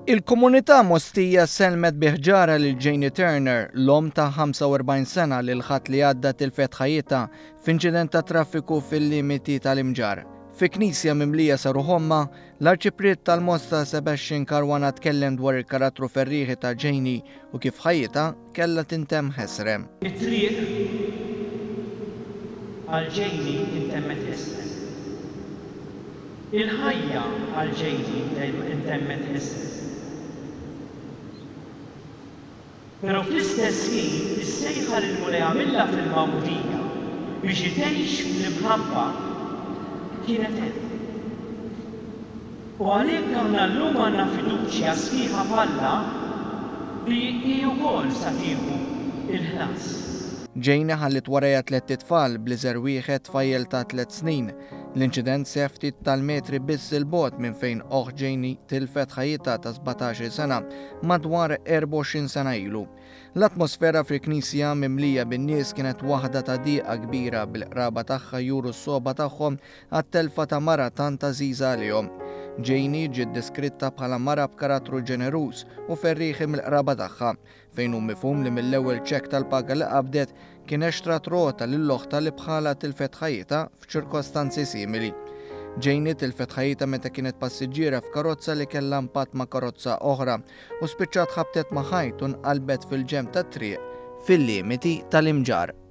Il-komunità Mostija sellmet bi ħġarha lil Janie Turner, l-omm ta' 45 sena li l-Ħadd li għadda tilfet ħajjitha f'inċident ta' traffiku fil-limiti tal-Imġarr. Fi knisja mimlija sa ruħ ommha, l-Arċipriet tal-Mosta Sebastian Caruana tkellem dwar il-karattru ferrieħi ta' Janie u kif ħajjitha kellha tintemm ħesrem. It-triq għal Janie intemmet ħesrem. Il-ħajja għal Janie ntemmet ħesrem. Però fl-istess ħin is-sejħa li l-Mulej għamilha fil-magħmudija biex hi tgħix fl-imħabba kienet hemm. U għalhekk aħna llum għandna fiduċja sħiħa f'Alla li hi wkoll sa tieħu l-ħlas. Janie ħalliet warajha tlett itfal, bl-iżgħar wieħed tfajjel ta' tlett snin. L-inċident seħħ ftit tal-metri biss 'il bogħod minn fejn oħt Janie tilfet ħajjitha ta' 17-il sena madwar 24 sena ilu. L-atmosfera fil-knisja mimlija bin-nies kienet waħda ta' dieqa kbira bil-qraba tagħha juru s-sogħba tagħhom għat-telfa ta' mara tant għażiża għalihom. Janie ġiet deskritta bħala mara b'karattru ġeneruż u ferrieħi mill-qraba tagħha. fejn hu mifhum li mill-ewwel ċekk tal-paga li qabdet kienet xtrat rota lil oħtha li bħalha tilfet ħajjitha f'ċirkostanzi simili. Janie tilfet ħajjitha meta kienet passiġġiera f'karozza li kellha impatt ma' karozza oħra u spiċċat ħabtet ma' ħajt u nqalbet fil-ġenb tat-triq fil-limiti tal-Imġarr.